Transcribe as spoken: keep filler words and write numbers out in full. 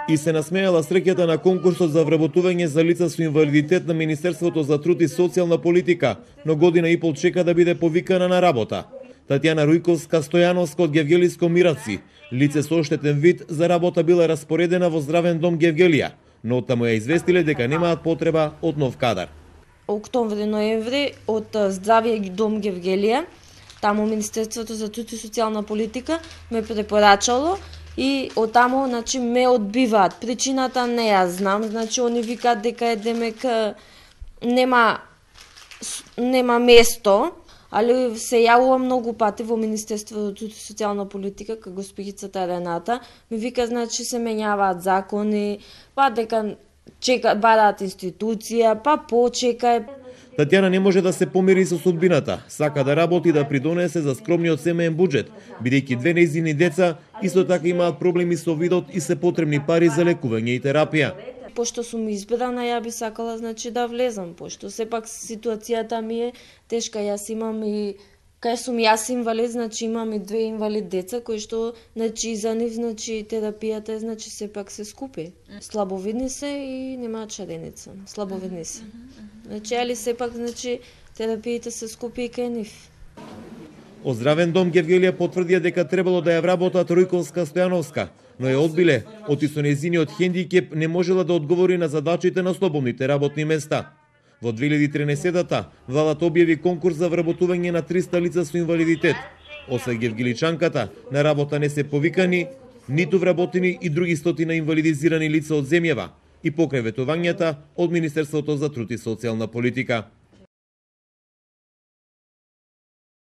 и се насмејала среќата на конкурсот за вработување за лица со инвалидитет на Министерството за труд и социјална политика, но година и пол чека да биде повикана на работа. Татјана Рујковска-Стојановска од Гевгелиско Мираци, лице со оштетен вид, за работа била распоредена во Здравен дом Гевгелија, но оттаму ја известиле дека немаат потреба од нов кадар. Октомври-ноември од Здравиот дом Гевгелија, таму Министерството за труд и социјална политика ме препорачало и оттаму, значи, ме одбиваат. Причината не ја знам, значи они викаат дека е демек нема нема место, али се јавува многу пати во Министерството за труд и социјална политика кај госпогицата Рената, ми вика, значи, се менјаваат закони, па дека чека бараат институција, па почекај. Татјана не може да се помири со судбината. Сака да работи да придонесе за скромниот семеен буџет, бидејќи две нејзини деца исто така имаат проблеми со видот и се потребни пари за лекување и терапија. Пошто сум избрана, ја би сакала, значи, да влезам, пошто сепак ситуацијата ми е тешка. Јас имам и кај сум јас инвалид, значи имам и две инвалид деца кои што, значи, за нив, значи, терапијата е, значи, сепак се скупи. Слабовидни се и немаат шареница. Слабовидни се. Значи, али сепак, значи, терапиите се скупи и кај нив. Од Здравен дом Гевгелија потврдија дека требало да ја вработат Рујковска-Стојановска, но ја одбиле, оти со нејзиниот хендикеп не можела да одговори на задачите на слободните работни места. Во две илјади и тринаесетта владата објави конкурс за вработување на триста лица со инвалидитет. Освен гевгеличанката, на работа не се повикани ниту вработени и други стотина инвалидизирани лица од земјава и покрај ветувањата од Министерството за труд и социјална политика.